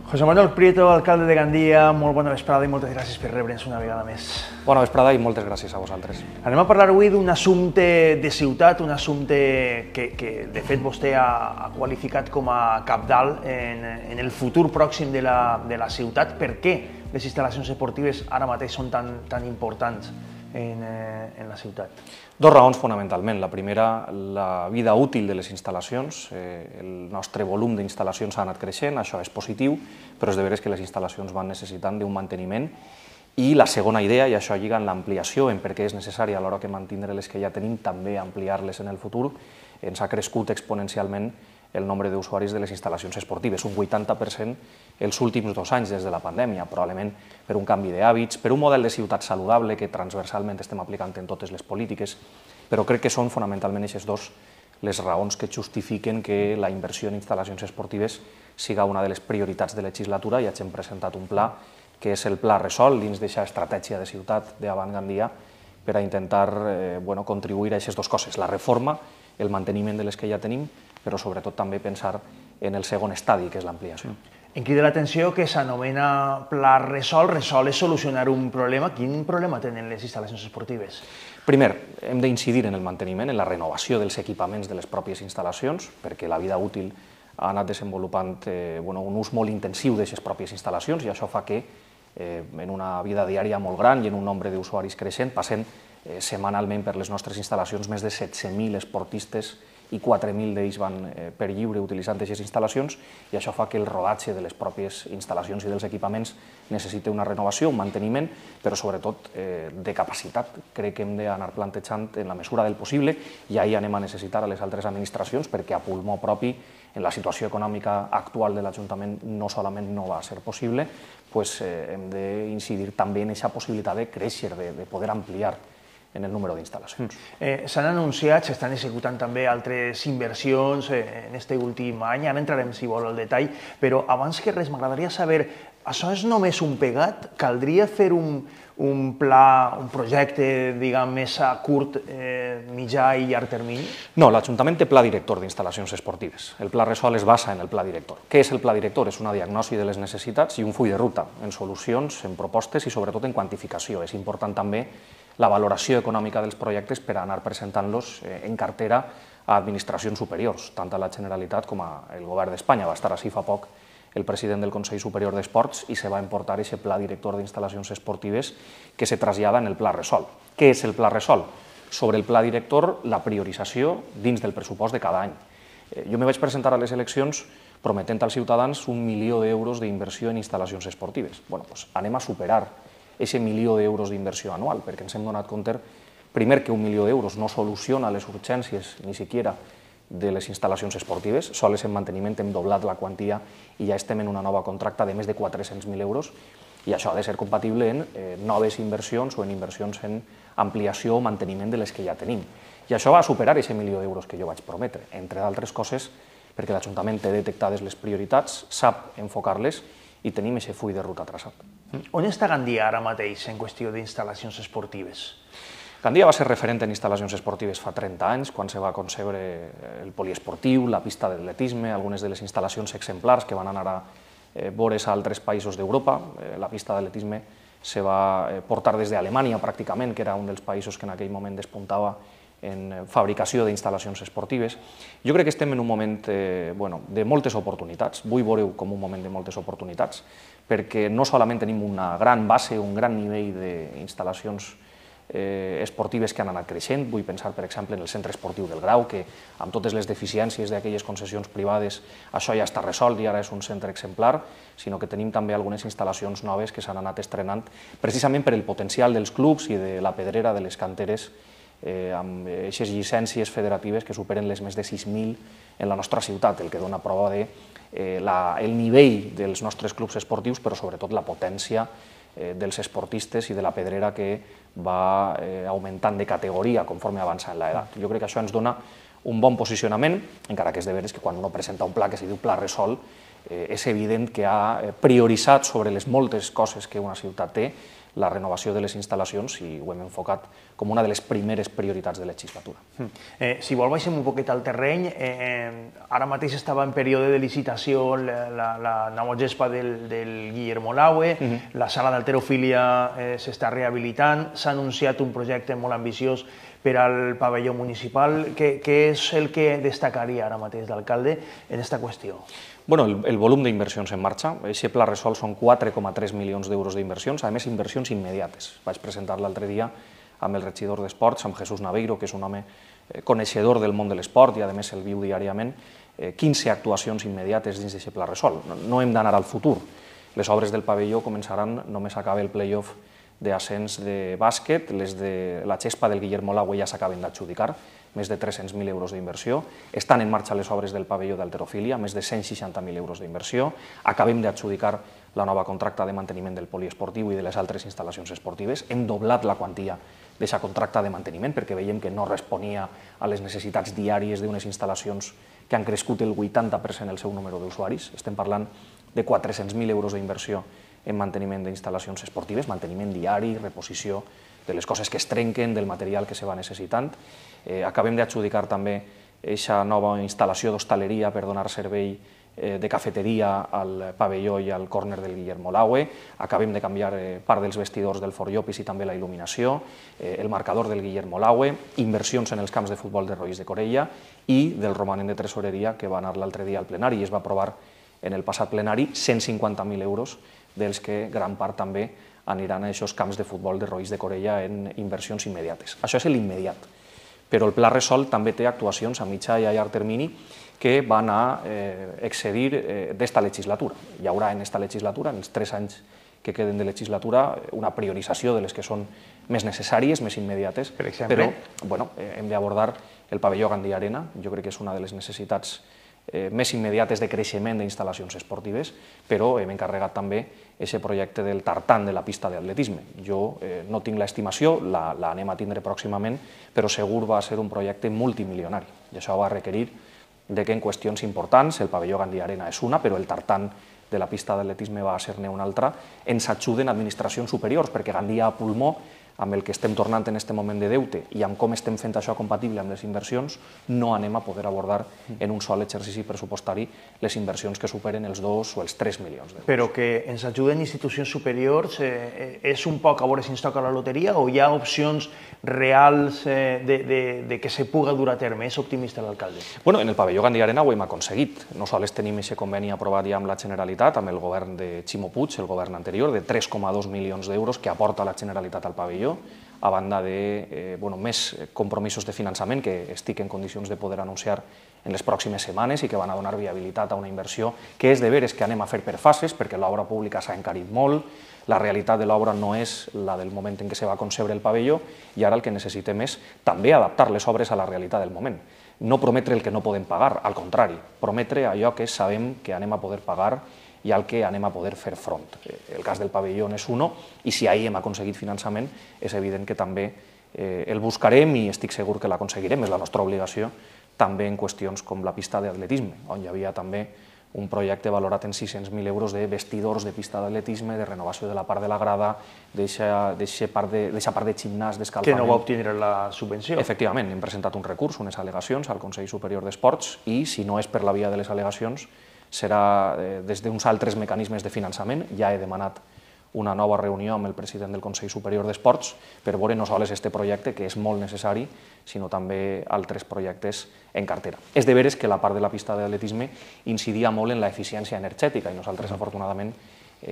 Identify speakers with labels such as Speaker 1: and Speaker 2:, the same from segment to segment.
Speaker 1: José Manuel Prieto, alcalde de Gandia, molt bona vesprada i moltes gràcies per rebre'ns una vegada més.
Speaker 2: Bona vesprada i moltes gràcies a vosaltres.
Speaker 1: Anem a parlar avui d'un assumpte de ciutat, un assumpte que de fet vostè ha qualificat com a cabdal en el futur pròxim de la ciutat. Per què les instal·lacions esportives ara mateix són tan importants en la ciutat?
Speaker 2: Dos raons fonamentalment. La primera, la vida útil de les instal·lacions. El nostre volum d'instal·lacions ha anat creixent, això és positiu, però és de veres que les instal·lacions van necessitant d'un manteniment. I la segona idea, i això lliga en l'ampliació, en per què és necessari a l'hora que mantindre les que ja tenim, també ampliar-les en el futur, ens ha crescut exponencialment el nombre d'usuaris de les instal·lacions esportives, un 80% els últims 2 anys des de la pandèmia, probablement per un canvi d'hàbits, per un model de ciutat saludable que transversalment estem aplicant en totes les polítiques, però crec que són fonamentalment aquestes dos les raons que justifiquen que la inversió en instal·lacions esportives siga una de les prioritats de legislatura. Ja hem presentat un pla, que és el Pla Resol, dins d'aquesta estratègia de ciutat d'Avant Gandia, per a intentar contribuir a aquestes dues coses, la reforma, el manteniment de les que ja tenim, però sobretot també pensar en el segon estadi, que és l'ampliació.
Speaker 1: Em crida l'atenció que s'anomena Pla Resol. Resol és solucionar un problema. Quin problema tenen les instal·lacions esportives?
Speaker 2: Primer, hem d'incidir en el manteniment, en la renovació dels equipaments de les pròpies instal·lacions, perquè la vida útil ha anat desenvolupant un ús molt intensiu d'aquestes pròpies instal·lacions, i això fa que en una vida diària molt gran i en un nombre d'usuaris creixent passen setmanalment per les nostres instal·lacions més de 16.000 esportistes i 4.000 d'ells van per lliure utilitzant aquestes instal·lacions, i això fa que el rodatge de les pròpies instal·lacions i dels equipaments necessiti una renovació, un manteniment, però sobretot de capacitat. Crec que hem d'anar plantejant en la mesura del possible, i ahir anem a necessitar a les altres administracions, perquè a pulmó propi, en la situació econòmica actual de l'Ajuntament, no solament no va ser possible, hem d'incidir també en aquesta possibilitat de créixer, de poder ampliar en el número d'instal·lacions.
Speaker 1: S'han anunciat, s'estan executant també altres inversions en aquest últim any, ara entrarem, si vol, al detall, però abans que res m'agradaria saber, això és només un pegat? Caldria fer un pla, un projecte, diguem, més a curt, mitjà i llarg termini?
Speaker 2: No, l'Ajuntament té pla director d'instal·lacions esportives. El Pla Resol es basa en el pla director. Què és el pla director? És una diagnosi de les necessitats i un full de ruta en solucions, en propostes i sobretot en quantificació. És important també la valoració econòmica dels projectes per anar presentant-los en cartera a administracions superiors, tant a la Generalitat com al Govern d'Espanya. Va estar així fa poc el president del Consell Superior d'Esports i se va emportar aquest pla director d'instal·lacions esportives que se trasllada en el Pla Resol. Què és el Pla Resol? Sobre el pla director, la priorització dins del pressupost de cada any. Jo me vaig presentar a les eleccions prometent als ciutadans 1 milió d'euros d'inversió en instal·lacions esportives. Anem a superar aquest 1 milió d'euros d'inversió anual, perquè ens hem donat compte, primer, que 1 milió d'euros no soluciona les urgències ni siquiera de les instal·lacions esportives, sols en manteniment hem doblat la quantia i ja estem en una nova contracta de més de 400.000 euros, i això ha de ser compatible en noves inversions o en inversions en ampliació o manteniment de les que ja tenim. I això va superar aquest 1 milió d'euros que jo vaig prometre, entre d'altres coses perquè l'Ajuntament té detectades les prioritats, sap enfocar-les i tenim aquest full de ruta traçat.
Speaker 1: On està Gandia ara mateix en qüestió d'instal·lacions esportives?
Speaker 2: Gandia va ser referent en instal·lacions esportives fa 30 anys, quan se va concebre el poliesportiu, la pista d'atletisme, algunes de les instal·lacions exemplars que van anar a veure's a altres països d'Europa. La pista d'atletisme se va portar des d'Alemanya, pràcticament, que era un dels països que en aquell moment despuntava en fabricació d'instal·lacions esportives. Jo crec que estem en un moment de moltes oportunitats, vull veure-ho com un moment de moltes oportunitats, perquè no solament tenim una gran base, un gran nivell d'instal·lacions esportives que han anat creixent, vull pensar, per exemple, en el centre esportiu del Grau, que amb totes les deficiències d'aquelles concessions privades això ja està resolt i ara és un centre exemplar, sinó que tenim també algunes instal·lacions noves que s'han anat estrenant precisament per el potencial dels clubs i de la pedrera de les canteres amb aquestes llicències federatives que superen les més de 6.000 en la nostra ciutat, el que dona prova del nivell dels nostres clubs esportius, però sobretot la potència dels esportistes i de la pedrera que va augmentant de categoria conforme avança en l'edat. Jo crec que això ens dona un bon posicionament, encara que és de veres que quan uno presenta un pla que se diu Pla Resol, és evident que ha prioritzat sobre les moltes coses que una ciutat té la renovació de les instal·lacions i ho hem enfocat com una de les primeres prioritats de legislatura.
Speaker 1: Si vol, baixem un poquet al terreny. Ara mateix estava en període de licitació la nova gespa del Guillermo Laue, la sala d'halterofília s'està rehabilitant, s'ha anunciat un projecte molt ambiciós per al pavelló municipal. Què és el que destacaria ara mateix l'alcalde en aquesta qüestió?
Speaker 2: Bueno, el volum d'inversions en marxa. Aquest pla Resol són 4,3 milions d'euros d'inversions, a més inversions immediates. Vaig presentar l'altre dia amb el regidor d'Esports, amb Jesús Naveiro, que és un home coneixedor del món de l'esport i a més el viu diàriament, 15 actuacions immediates dins d'aquest pla Resol. No hem d'anar al futur. Les obres del pavelló començaran només acabar el play-off d'ascens de bàsquet, les de la gespa del Guillermo Laue ja s'acaben d'adjudicar, més de 300.000 euros d'inversió. Estan en marxa les obres del pavelló d'halterofília, més de 160.000 euros d'inversió. Acabem d'adjudicar la nova contracta de manteniment del poliesportiu i de les altres instal·lacions esportives. Hem doblat la quantia d'aquesta contracta de manteniment perquè veiem que no responia a les necessitats diàries d'unes instal·lacions que han crescut el 80% el seu número d'usuaris. Estem parlant de 400.000 euros d'inversió en manteniment d'instal·lacions esportives, manteniment diari, reposició de les coses que es trenquen, del material que se va necessitant. Acabem d'adjudicar també aquesta nova instal·lació d'hostaleria per donar servei de cafeteria al pavelló i al córner del Guillermo Laue. Acabem de canviar part dels vestidors del Fort Llopis i també la il·luminació, el marcador del Guillermo Laue, inversions en els camps de futbol de Roís de Corella i del romanent de tresoreria que va anar l'altre dia al plenari i es va aprovar en el passat plenari 150.000 euros, dels que gran part també aniran a aquests camps de futbol de Roís de Corella en inversions immediates. Això és l'immediat. Però el Pla Resol també té actuacions a mitjà i a llarg termini que van a excedir d'esta legislatura. Hi haurà en esta legislatura, en els 3 anys que queden de legislatura, una priorització de les que són més necessàries, més immediates, però hem d'abordar el pavelló Gandia Arena. Jo crec que és una de les necessitats més immediates de creixement d'instal·lacions esportives, però hem encarregat també aquest projecte del tartan de la pista d'atletisme. Jo no tinc l'estimació, l'anem a tindre pròximament, però segur va ser un projecte multimilionari. I això va requerir que en qüestions importants, el pavelló Gandia Arena és una, però el tartan de la pista d'atletisme va ser-ne una altra, ens ajuden administracions superiors, perquè Gandia a pulmó, amb el que estem tornant en aquest moment de deute i amb com estem fent això compatible amb les inversions, no anem a poder abordar en un sol exercici pressupostari les inversions que superen els 2 o els 3 milions d'euros.
Speaker 1: Però que ens ajuden institucions superiors és un poc a veure si ens toca la loteria o hi ha opcions reals de que se puga dur a terme? És optimista l'alcalde?
Speaker 2: Bueno, en el pavelló Gandia Arena ho hem aconseguit. No sols tenim aquest conveni aprovat ja amb la Generalitat, amb el govern de Ximo Puig, el govern anterior, de 3,2 milions d'euros que aporta la Generalitat al pavelló, a banda de més compromisos de finançament que estic en condicions de poder anunciar en les pròximes setmanes i que van a donar viabilitat a una inversió que és de veres que anem a fer per fases, perquè l'obra pública s'ha encarit molt, la realitat de l'obra no és la del moment en què se va concebre el pavelló i ara el que necessitem és també adaptar les obres a la realitat del moment. No prometre el que no podem pagar, al contrari, prometre allò que sabem que anem a poder pagar i al que anem a poder fer front. El cas del pavelló és un, i si ahir hem aconseguit finançament, és evident que també el buscarem i estic segur que l'aconseguirem, és la nostra obligació, també en qüestions com la pista d'atletisme, on hi havia també un projecte valorat en 600.000 euros de vestidors de pista d'atletisme, de renovació de la part de la grada, d'aquesta part de gimnàs, d'escalfament.
Speaker 1: Que no va obtenir la subvenció.
Speaker 2: Efectivament, hem presentat un recurs, unes al·legacions al Consell Superior d'Esports i, si no és per la via de les al·legacions, serà des d'uns altres mecanismes de finançament. Ja he demanat una nova reunió amb el president del Consell Superior d'Esports per veure no sols aquest projecte, que és molt necessari, sinó també altres projectes en cartera. És de veres que la part de la pista d'atletisme incidia molt en l'eficiència energètica i nosaltres, afortunadament,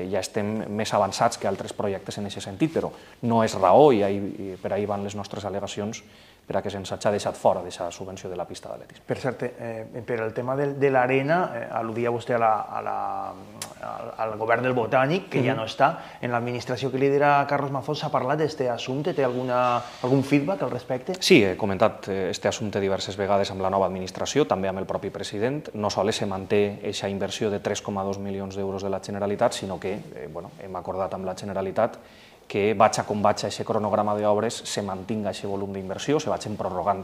Speaker 2: ja estem més avançats que altres projectes en aquest sentit, però no és raó i per ahí van les nostres al·legacions per a que se'ns hagi deixat fora d'aquesta subvenció de la pista d'atletisme.
Speaker 1: Per cert, per el tema de l'arena, al·ludia vostè al govern del Botànic, que ja no està. En l'administració que lidera Carlos Mazón s'ha parlat d'aquest assumpte? Té algun feedback al respecte?
Speaker 2: Sí, he comentat aquest assumpte diverses vegades amb la nova administració, també amb el propi president. No sols se manté aquesta inversió de 3,2 milions d'euros de la Generalitat, sinó que hem acordat amb la Generalitat que vaig a com vaig a aquest cronograma d'obres se mantinga aquest volum d'inversió, se vagin prorrogant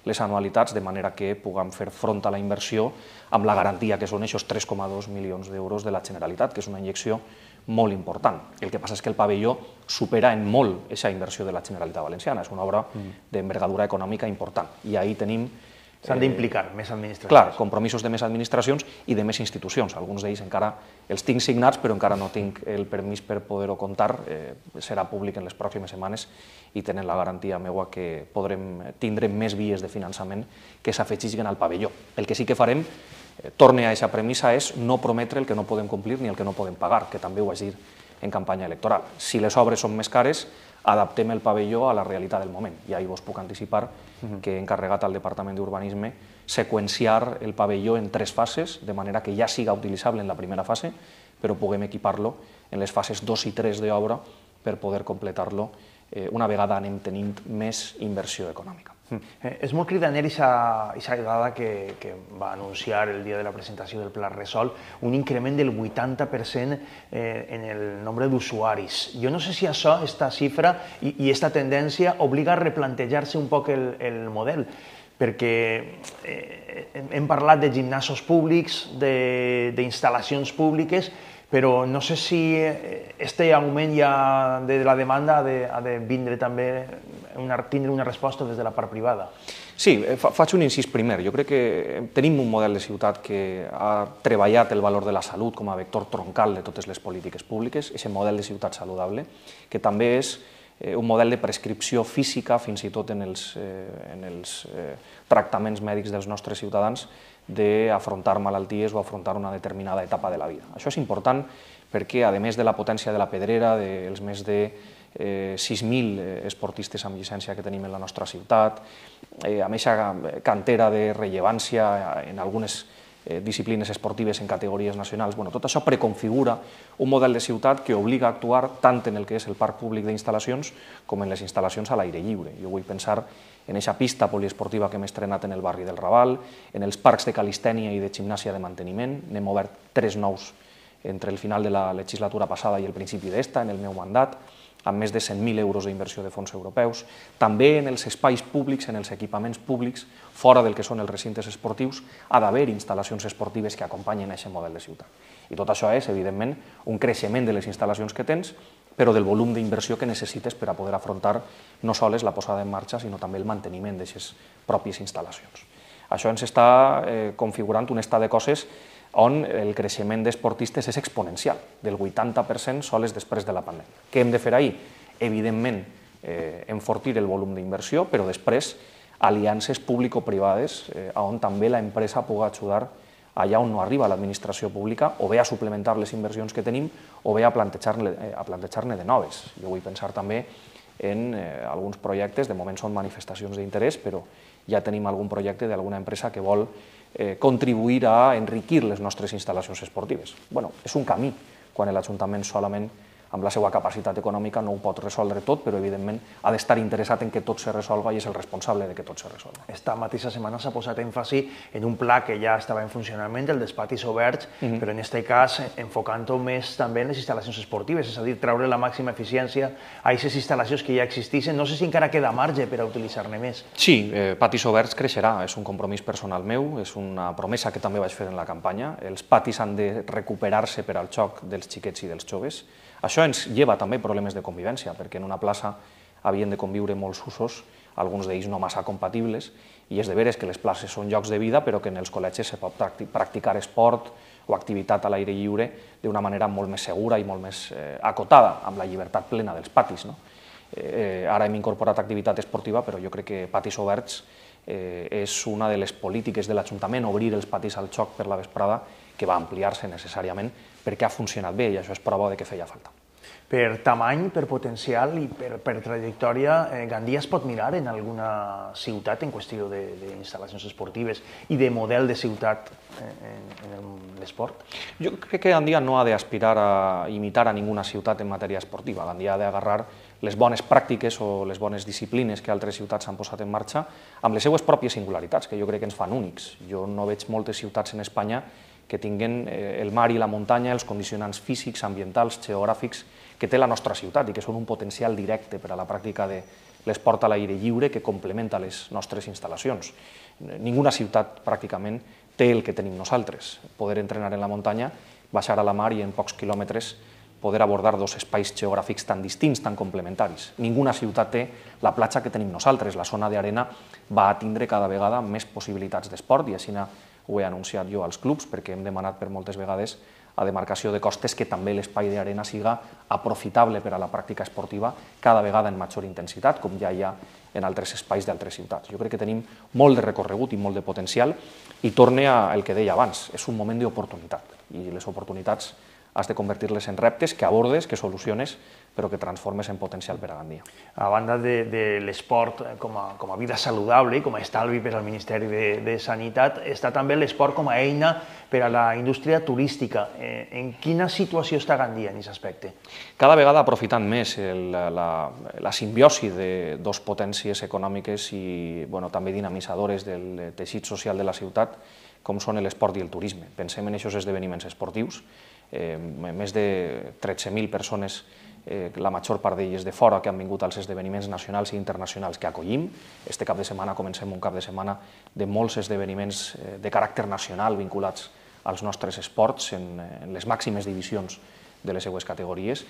Speaker 2: les anualitats, de manera que puguem fer front a la inversió amb la garantia que són aquests 3,2 milions d'euros de la Generalitat, que és una injecció molt important. El que passa és que el pavelló supera en molt aquesta inversió de la Generalitat Valenciana. És una obra d'envergadura econòmica important. I ahir tenim...
Speaker 1: S'han d'implicar més administracions.
Speaker 2: Clar, compromisos de més administracions i de més institucions. Alguns d'ells encara els tinc signats, però encara no tinc el permís per poder-ho comptar. Serà públic en les pròximes setmanes i tenen la garantia meua que tindrem més vies de finançament que s'afegeixin al pavelló. El que sí que farem, torne a aquesta premissa, és no prometre el que no podem complir ni el que no podem pagar, que també ho vaig dir en campanya electoral. Si les obres són més cares, adaptem el pavelló a la realitat del moment. I ahir vos puc anticipar que he encarregat al Departament d'Urbanisme seqüenciar el pavelló en 3 fases, de manera que ja siga utilitzable en la primera fase, però puguem equipar-lo en les fases 2 i 3 d'obra per poder completar-lo una vegada anem tenint més inversió econòmica.
Speaker 1: És molt cridaner aquesta dada que va anunciar el dia de la presentació del Pla Resol, un increment del 80% en el nombre d'usuaris. Jo no sé si això, aquesta xifra i aquesta tendència obliga a replantejar-se un poc el model, perquè hem parlat de gimnasos públics, d'instal·lacions públiques, però no sé si aquest augment ja de la demanda ha de vindre també, tindre una resposta des de la part privada.
Speaker 2: Sí, faig un incís primer. Jo crec que tenim un model de ciutat que ha treballat el valor de la salut com a vector troncal de totes les polítiques públiques, aquest model de ciutat saludable, que també és un model de prescripció física, fins i tot en els tractaments mèdics dels nostres ciutadans, d'afrontar malalties o afrontar una determinada etapa de la vida. Això és important perquè, a més de la potència de la pedrera, dels més de 6.000 esportistes amb llicència que tenim en la nostra ciutat, amb aquesta cantera de rellevància en algunes disciplines esportives en categories nacionals, tot això preconfigura un model de ciutat que obliga a actuar tant en el que és el parc públic d'instal·lacions com en les instal·lacions a l'aire lliure. Jo vull pensar en aquesta pista poliesportiva que hem estrenat en el barri del Raval, en els parcs de calistènia i de gimnàsia de manteniment. N'hem obert 3 nous entre el final de la legislatura passada i el principi d'esta, en el meu mandat, amb més de 100.000 euros d'inversió de fons europeus. També en els espais públics, en els equipaments públics, fora del que són els recintes esportius, ha d'haver instal·lacions esportives que acompanyen aquest model de ciutat. I tot això és, evidentment, un creixement de les instal·lacions que tens, però del volum d'inversió que necessites per a poder afrontar no sols la posada en marxa, sinó també el manteniment d'aquestes pròpies instal·lacions. Això ens està configurant un estat de coses on el creixement d'esportistes és exponencial, del 80% sols després de la pandèmia. Què hem de fer ahir? Evidentment, enfortir el volum d'inversió, però després aliances público-privades on també l'empresa pugui ajudar allà on no arriba l'administració pública, o bé a suplementar les inversions que tenim, o bé a plantejar-ne de noves. Jo vull pensar també en alguns projectes, de moment són manifestacions d'interès, però ja tenim algun projecte d'alguna empresa que vol contribuir a enriquir les nostres instal·lacions esportives. És un camí, quan l'Ajuntament solament amb la seva capacitat econòmica no ho pot resoldre tot, però evidentment ha d'estar interessat en que tot se resolga i és el responsable de que tot se resolga.
Speaker 1: Esta mateixa setmana s'ha posat èmfasi en un pla que ja estava en funcionament, el dels patis oberts, però en aquest cas enfocant-ho més també en les instal·lacions esportives, és a dir, treure la màxima eficiència a aquestes instal·lacions que ja existeixen. No sé si encara queda marge per a utilitzar-ne més.
Speaker 2: Sí, patis oberts creixerà, és un compromís personal meu, és una promesa que també vaig fer en la campanya. Els patis han de recuperar-se per al joc dels xiquets i dels joves. Això ens lleva també problemes de convivència, perquè en una plaça havien de conviure molts usos, alguns d'ells no massa compatibles, i és de veres que les places són llocs de vida, però que en els col·legis se pot practicar esport o activitat a l'aire lliure d'una manera molt més segura i molt més acotada, amb la llibertat plena dels patis. Ara hem incorporat activitat esportiva, però jo crec que patis oberts és una de les polítiques de l'Ajuntament, obrir els patis al joc per la vesprada, que va ampliar-se necessàriament perquè ha funcionat bé i això és prova de que feia falta.
Speaker 1: Per tamany, per potencial i per trajectòria, Gandia es pot mirar en alguna ciutat en qüestió d'instal·lacions esportives i de model de ciutat en l'esport?
Speaker 2: Jo crec que Gandia no ha d'aspirar a imitar a ninguna ciutat en matèria esportiva. Gandia ha d'agarrar les bones pràctiques o les bones disciplines que altres ciutats han posat en marxa amb les seues pròpies singularitats, que jo crec que ens fan únics. Jo no veig moltes ciutats en Espanya que tinguen el mar i la muntanya, els condicionants físics, ambientals, geogràfics que té la nostra ciutat i que són un potencial directe per a la pràctica de l'esport a l'aire lliure que complementa les nostres instal·lacions. Ninguna ciutat pràcticament té el que tenim nosaltres, poder entrenar en la muntanya, baixar a la mar i en pocs quilòmetres poder abordar dos espais geogràfics tan distints, tan complementaris. Ninguna ciutat té la platja que tenim nosaltres. La zona d'arena va a tindre cada vegada més possibilitats d'esport i així ho he anunciat jo als clubs perquè hem demanat per moltes vegades a demarcació de costes que també l'espai d'arena siga aprofitable per a la pràctica esportiva cada vegada en major intensitat, com ja hi ha en altres espais d'altres ciutats. Jo crec que tenim molt de recorregut i molt de potencial i torne al que deia abans, és un moment d'oportunitat i les oportunitats has de convertir-les en reptes que abordes, que soluciones, però que transformes en potencial per a Gandia.
Speaker 1: A banda de l'esport com a vida saludable i com a estalvi per al Ministeri de Sanitat, està també l'esport com a eina per a la indústria turística. En quina situació està Gandia en aquest aspecte?
Speaker 2: Cada vegada aprofitant més la simbiosi de dues potències econòmiques i també dinamitzadores del teixit social de la ciutat, com són l'esport i el turisme. Pensem en aquests esdeveniments esportius, més de 13.000 persones, la major part d'elles de fora, que han vingut als esdeveniments nacionals i internacionals que acollim. Este cap de setmana comencem un cap de setmana de molts esdeveniments de caràcter nacional vinculats als nostres esports en les màximes divisions de les seues categories,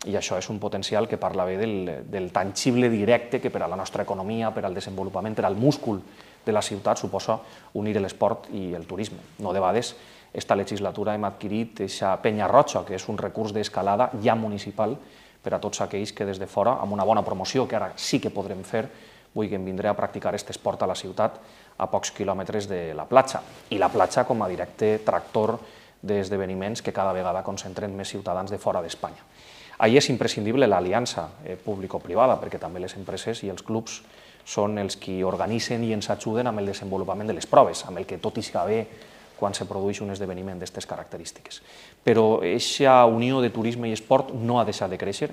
Speaker 2: i això és un potencial que parla bé del tangible directe que per a la nostra economia, per al desenvolupament, per al múscul de la ciutat suposa unir l'esport i el turisme. No debades, esta legislatura hem adquirit aquesta penya roja, que és un recurs d'escalada ja municipal per a tots aquells que des de fora, amb una bona promoció, que ara sí que podrem fer, vulguin vindre a practicar aquest esport a la ciutat a pocs quilòmetres de la platja. I la platja com a directe tractor d'esdeveniments que cada vegada concentren més ciutadans de fora d'Espanya. Ahí és imprescindible l'aliança público-privada, perquè també les empreses i els clubs són els qui organitzen i ens ajuden amb el desenvolupament de les proves, amb el que tot ixga bé quan se produeix un esdeveniment d'aquestes característiques. Però aquesta unió de turisme i esport no ha deixat de créixer,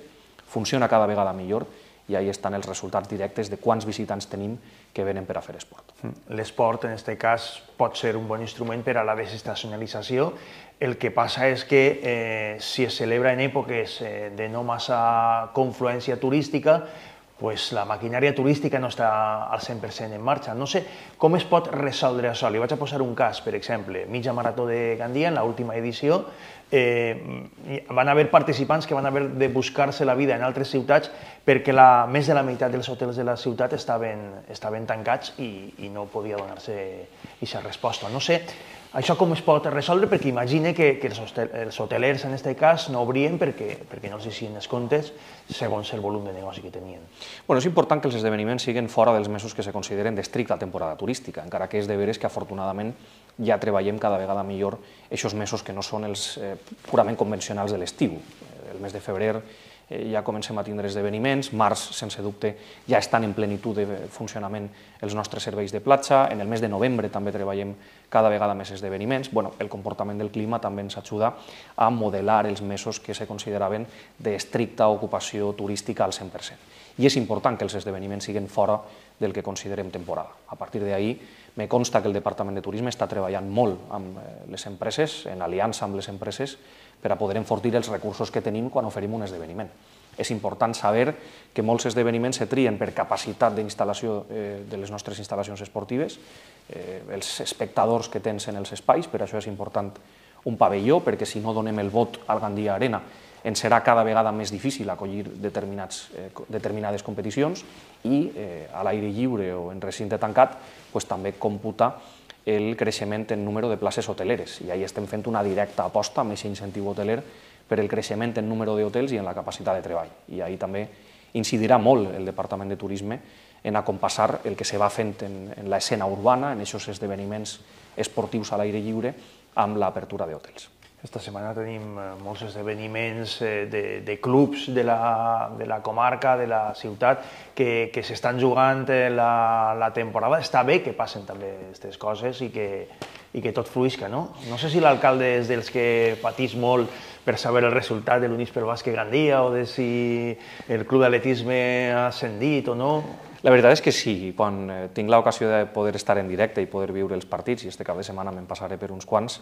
Speaker 2: funciona cada vegada millor i ahí estan els resultats directes de quants visitants tenim que venen per a fer esport.
Speaker 1: L'esport, en aquest cas, pot ser un bon instrument per a la desestacionalització. El que passa és que si es celebra en èpoques de no massa confluència turística, pues la maquinària turística no està al 100% en marxa. No sé com es pot resoldre això. Li vaig a posar un cas, per exemple, mitja marató de Gandia, en l'última edició, van haver participants que van haver de buscar-se la vida en altres ciutats perquè més de la meitat dels hotels de la ciutat estaven tancats i no podia donar-se aquesta resposta. No sé això com es pot resoldre, perquè imagine que els hotelers en aquest cas no obrien perquè no els hicien els comptes segons el volum de negoci que tenien.
Speaker 2: És important que els esdeveniments siguin fora dels mesos que se consideren d'estricta temporada turística, encara que és de veres que afortunadament ja treballem cada vegada millor aquests mesos que no són els purament convencionals de l'estiu. El mes de febrer ja comencem a tindre esdeveniments, març, sense dubte, ja estan en plenitud de funcionament els nostres serveis de platja, en el mes de novembre també treballem cada vegada més esdeveniments. El comportament del clima també ens ajuda a modelar els mesos que se consideraven d'estricta ocupació turística al 100%. I és important que els esdeveniments siguin fora del que considerem temporada. A partir d'ahí, me consta que el Departament de Turisme està treballant molt amb les empreses, en aliança amb les empreses, per a poder enfortir els recursos que tenim quan oferim un esdeveniment. És important saber que molts esdeveniments se trien per capacitat d'instal·lació de les nostres instal·lacions esportives, els espectadors que tens en els espais, per això és important un pavelló, perquè si no donem el vot al Gandia Arena ens serà cada vegada més difícil acollir determinades competicions i a l'aire lliure o en recinte tancat també computa el creixement en número de places hoteleres. I ahí estem fent una directa aposta amb aquest incentiu hoteler per el creixement en número d'hotels i en la capacitat de treball. I ahí també incidirà molt el Departament de Turisme en acompassar el que se va fent en l'escena urbana, en aquests esdeveniments esportius a l'aire lliure, amb l'apertura d'hotels.
Speaker 1: Esta setmana tenim molts esdeveniments de clubs de la comarca, de la ciutat, que s'estan jugant la temporada. Està bé que passen també aquestes coses i que tot fluïsca, no? No sé si l'alcalde és dels que patís molt per saber el resultat de l'Unis pel Bàsquet Gandia o de si el club d'atletisme ha ascendit o no.
Speaker 2: La veritat és que sí, quan tinc l'ocasió de poder estar en directe i poder viure els partits, i este cap de setmana me'n passaré per uns quants,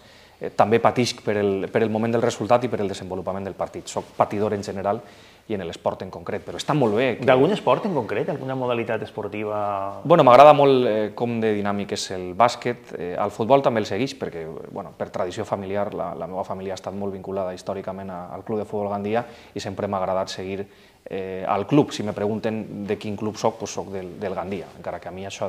Speaker 2: també patisc per el moment del resultat i per el desenvolupament del partit. Soc patidor en general i en l'esport en concret, però està molt bé.
Speaker 1: D'algun esport en concret? Alguna modalitat esportiva?
Speaker 2: Bueno, m'agrada molt com de dinàmic és el bàsquet. Al futbol també el segueix perquè, bueno, per tradició familiar, la meva família ha estat molt vinculada històricament al Club de Futbol Gandia i sempre m'ha agradat seguir al club. Si me pregunten de quin club soc, doncs soc del Gandia, encara que a mi això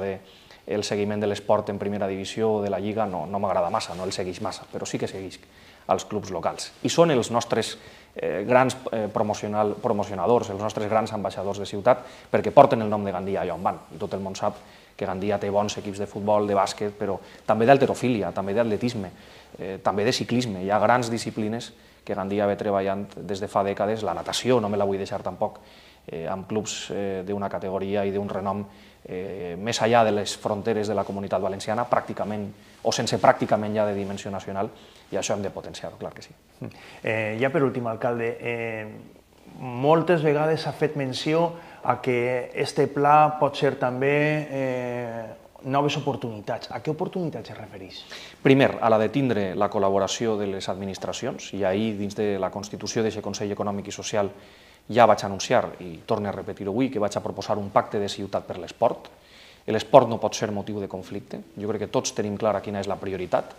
Speaker 2: el seguiment de l'esport en primera divisió o de la Lliga no m'agrada massa, no el segueix massa, però sí que segueix als clubs locals. I són els nostres grans promocionadors, els nostres grans ambaixadors de ciutat, perquè porten el nom de Gandia allà on van. I tot el món sap que Gandia té bons equips de futbol, de bàsquet, però també d'halterofília, també d'atletisme, també de ciclisme. Hi ha grans disciplines que Gandia ve treballant des de fa dècades. La natació, no me la vull deixar tampoc, amb clubs d'una categoria i d'un renom més enllà de les fronteres de la Comunitat Valenciana, pràcticament, o sense pràcticament ja de dimensió nacional, i això hem de potenciar-ho, clar que sí.
Speaker 1: Ja per últim, alcalde, moltes vegades s'ha fet menció a que este pla pot ser també noves oportunitats. A què oportunitats es refereix?
Speaker 2: Primer, a la de tindre la col·laboració de les administracions, i ahir, dins de la constitució d'aquest Consell Econòmic i Social, ja vaig anunciar, i torno a repetir-ho avui, que vaig a proposar un pacte de ciutat per l'esport. L'esport no pot ser motiu de conflicte. Jo crec que tots tenim clara quina és la prioritat,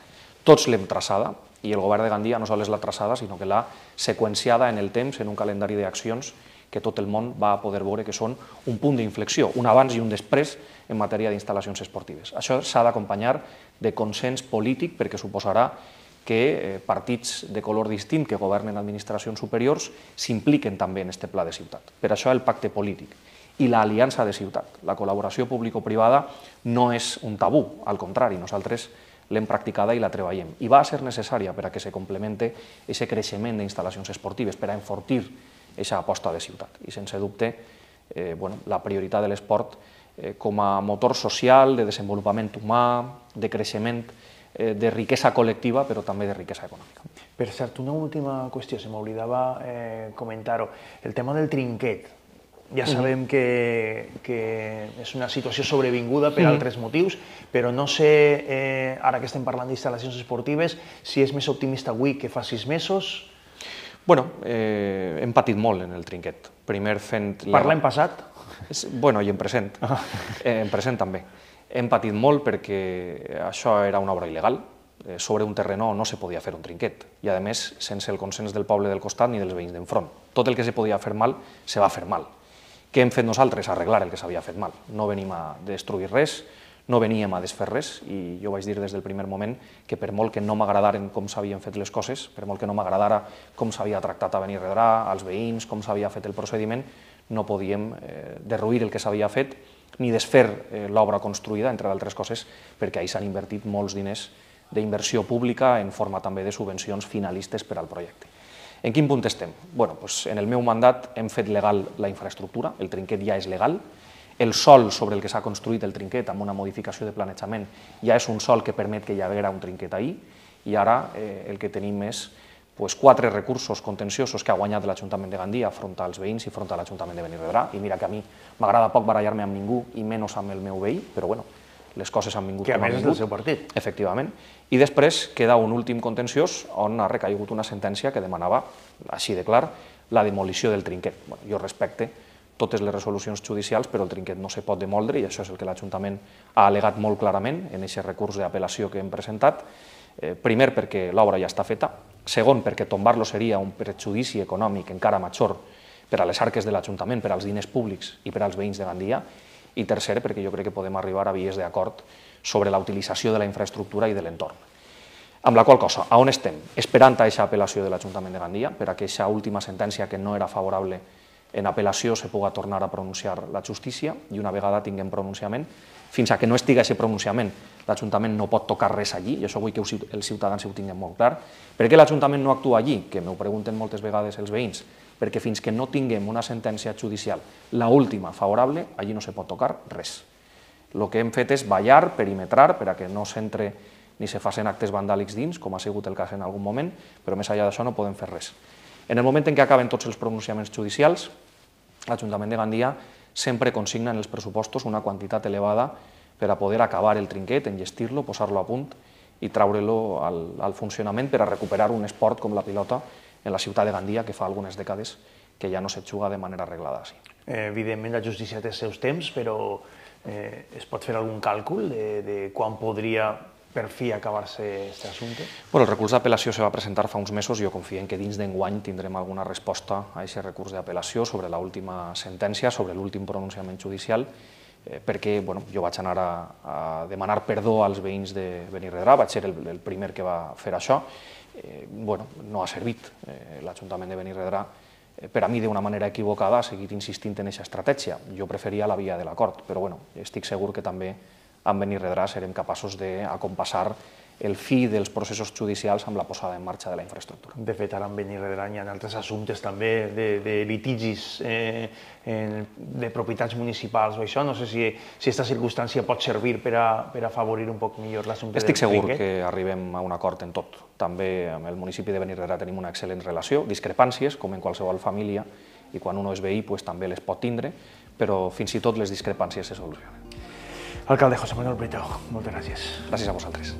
Speaker 2: tots l'hem traçada, i el govern de Gandia no sols l'ha traçada, sinó que l'ha seqüenciada en el temps, en un calendari d'accions que tot el món va poder veure que són un punt d'inflexió, un abans i un després en matèria d'instal·lacions esportives. Això s'ha d'acompanyar de consens polític perquè suposarà que partits de color distint que governen administracions superiors s'impliquen també en aquest pla de ciutat. Per això el pacte polític i l'aliança de ciutat. La col·laboració público-privada no és un tabú, al contrari, nosaltres l'hem practicada i la treballem. I va ser necessària per a que se complemente aquest creixement d'instal·lacions esportives, per a enfortir aquesta aposta de ciutat. I sense dubte, la prioritat de l'esport com a motor social, de desenvolupament humà, de creixement, de riquesa col·lectiva, però també de riquesa econòmica.
Speaker 1: Per cert, una última qüestió, se m'oblidava comentar-ho. El tema del trinquet. Ja sabem que és una situació sobrevinguda per altres motius, però no sé, ara que estem parlant d'instal·lacions esportives, si és més optimista avui que fa 6 mesos.
Speaker 2: Bueno, hem patit molt en el trinquet. Primer fent...
Speaker 1: Parla en passat?
Speaker 2: Bueno, i en present. En present també. Hem patit molt perquè això era una obra il·legal. Sobre un terreno no se podia fer un trinquet. I, a més, sense el consens del poble del costat ni dels veïns d'enfront. Tot el que se podia fer mal, se va fer mal. Què hem fet nosaltres? Arreglar el que s'havia fet mal. No venim a destruir res, no veníem a desfer res, i jo vaig dir des del primer moment que per molt que no m'agradaren com s'havien fet les coses, per molt que no m'agradara com s'havia tractat a Benirredrà, als veïns, com s'havia fet el procediment, no podíem derruir el que s'havia fet ni desfer l'obra construïda, entre d'altres coses, perquè ahir s'han invertit molts diners d'inversió pública en forma també de subvencions finalistes per al projecte. En quin punt estem? Bueno, en el meu mandat hem fet legal la infraestructura, el trinquet ja és legal, el sòl sobre el que s'ha construït el trinquet amb una modificació de planejament ja és un sòl que permet que hi haguera un trinquet ahir, i ara el que tenim és 4 recursos contenciosos que ha guanyat l'Ajuntament de Gandia front als veïns i front a l'Ajuntament de Benirredrà, i mira que a mi m'agrada poc barallar-me amb ningú i menys amb el meu veí, però bueno, les coses han vingut com han vingut.
Speaker 1: Que a més és del seu partit.
Speaker 2: Efectivament. I després queda un últim contenciós on ha recaigut una sentència que demanava, així de clar, la demolició del trinquet. Jo respecte totes les resolucions judicials, però el trinquet no se pot demoldre, i això és el que l'Ajuntament ha al·legat molt clarament en aquest recurs d'apel·lació que hem presentat. Primer, perquè l'obra ja està feta. Segon, perquè tombar-lo seria un perjudici econòmic encara major per a les arques de l'Ajuntament, per als diners públics i per als veïns de Gandia. I tercer, perquè jo crec que podem arribar a vies d'acord sobre la utilització de la infraestructura i de l'entorn. Amb la qual cosa, a on estem? Esperant a aquesta apel·lació de l'Ajuntament de Gandia, per a aquesta última sentència que no era favorable en apel·lació se puga tornar a pronunciar la justícia, i una vegada tinguem pronunciament, fins a que no estigui aquest pronunciament, l'Ajuntament no pot tocar res allí, i això vull que els ciutadans ho tinguin molt clar. Per què l'Ajuntament no actua allí? Que m'ho pregunten moltes vegades els veïns. Perquè fins que no tinguem una sentència judicial, l'última favorable, allí no se pot tocar res. El que hem fet és vallar, perimetrar, per a que no s'entre ni se facin actes vandàlics dins, com ha sigut el cas en algun moment, però més enllà d'això no podem fer res. En el moment en què acaben tots els pronunciaments judicials, l'Ajuntament de Gandia sempre consigna en els pressupostos una quantitat elevada per a poder acabar el trinquet, enllestir-lo, posar-lo a punt i treure-lo al funcionament per a recuperar un esport com la pilota en la ciutat de Gandia, que fa algunes dècades que ja no se juga de manera arreglada.
Speaker 1: Evidentment, la justícia té els seus temps, però es pot fer algun càlcul de quan podria per fi acabar-se aquest assumpte?
Speaker 2: El recurs d'apel·lació se va presentar fa uns mesos i jo confio que dins d'enguany tindrem alguna resposta a aquest recurs d'apel·lació sobre l'última sentència, sobre l'últim pronunciament judicial, perquè jo vaig anar a demanar perdó als veïns de Benirredrà, vaig ser el primer que va fer això. No ha servit l'Ajuntament de Benirredrà, per a mi d'una manera equivocada, a seguir insistint en aquesta estratègia. Jo preferia la via de l'acord, però estic segur que també amb Benirredrà serem capaços d'acompassar el fi dels processos judicials amb la posada en marxa de la infraestructura.
Speaker 1: De fet, ara amb Benirredrà hi ha altres assumptes també de litigis de propietats municipals o això. No sé si aquesta circumstància pot servir per a afavorir un poc millor l'assumpte del
Speaker 2: Estic segur
Speaker 1: trinquet.
Speaker 2: que arribem a un acord en tot. També amb el municipi de Benirredrà tenim una excel·lent relació, discrepàncies, com en qualsevol família, i quan un és veí també les pot tindre, però fins i tot les discrepàncies se solucionen.
Speaker 1: Alcalde José Manuel Bretau, moltes gràcies.
Speaker 2: Gràcies a vosaltres.